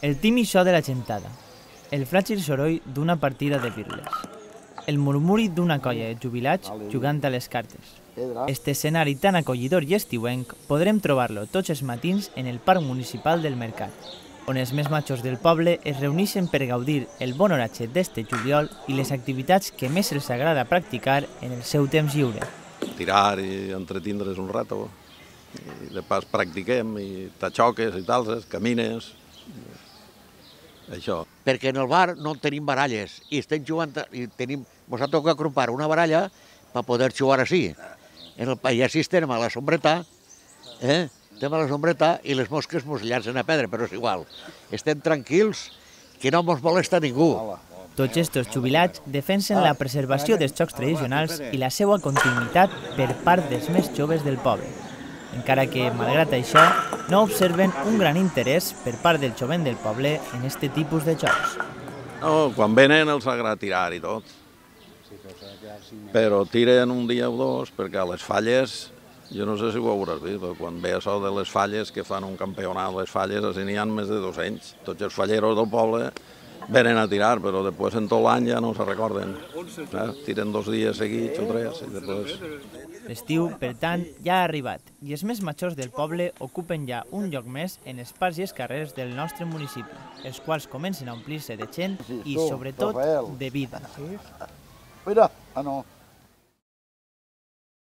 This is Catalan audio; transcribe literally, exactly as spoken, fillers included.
El timi so de la gentada, el fràgil soroll d'una partida de pirles, el murmuri d'una colla de jubilats jugant a les cartes. Este escenari tan acollidor i estiuenc podrem trobar-lo tots els matins en el Parc Municipal del Mercat, on els més majors del poble es reuneixen per gaudir el bon oratge d'este juliol i les activitats que més els agrada practicar en el seu temps lliure. Tirar i entretindre's un rato, i de pas practiquem, i t'aixoques i talses, camines, això. Perquè en el bar no tenim baralles i estem jugant, i tenim, ens ha tocat comprar una baralla per poder jugar així. En el país estem a la sombreta, eh? Estem a la sombreta i les mosques ens llancen a pedra, però és igual. Estem tranquils, que no ens molesta ningú. Tots estos jubilats defensen la preservació dels jocs tradicionals i la seva continuïtat per part dels més joves del poble, encara que, malgrat això, no observen un gran interès per part del jovent del poble en este tipus de jocs. No, quan venen els agrada tirar i tot, però tiren un dia o dos, perquè a les falles, jo no sé si ho hauràs vist, però quan ve això de les falles, que fan un campionat de les falles, així n'hi ha més de dos-cents. Tots els falleros del poble venen a tirar, però després en tot l'any ja no se recorden. Eh? Tiren dos dies seguits o tres i després... L'estiu, per tant, ja ha arribat i els més majors del poble ocupen ja un lloc més en els parcs i els carrers del nostre municipi, els quals comencen a omplir-se de gent i, sobretot, de vida. Mira, ah no.